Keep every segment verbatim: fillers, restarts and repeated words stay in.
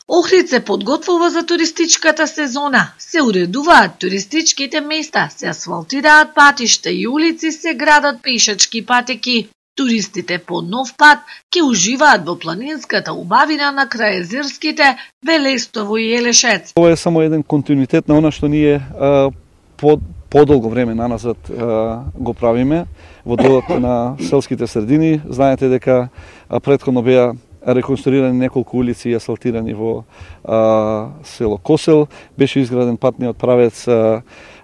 Охрид се подготвува за туристичката сезона. Се уредуваат туристичките места, се асфалтираат патишта и улици, се градат пешачки патеки. Туристите по нов пат ќе уживаат во планинската убавина на крајезерските Велестово и Елешец. Ова е само еден континуитет на она што ние а, под подолго време наназад а, го правиме во делот на селските средини. Знаете дека а, претходно беа реконструирани неколку улици и асфалтирани во а, село Косел, беше изграден патниот правец а,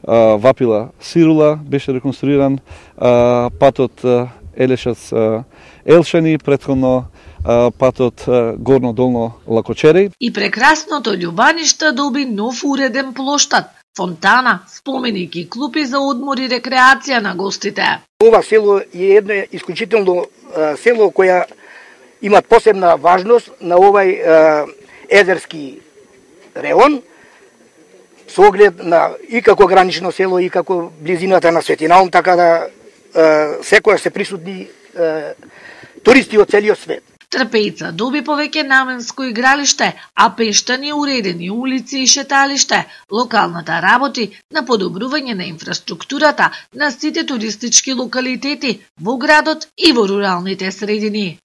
а, Вапила Сирула, беше реконструиран а, патот а, Елешец а, Елшани, претходно а, патот а, Горно-Долно Лакочери. И прекрасното љубаниште доби нов уреден плоштад, фонтана, споменик и клупи за одмор и рекреација на гостите. Ова село е едно исклучително а, село која има посебна важност на овај а, езерски реон, со оглед на и како гранично село и како близината на Светинаум, така да а, секојаш се присутни а, туристи од целиот свет. Трпејца доби повеќе наменско игралиште, а Пештани уредени улици и шеталиште. Локалната работи на подобрување на инфраструктурата на сите туристички локалитети во градот и во руралните средини.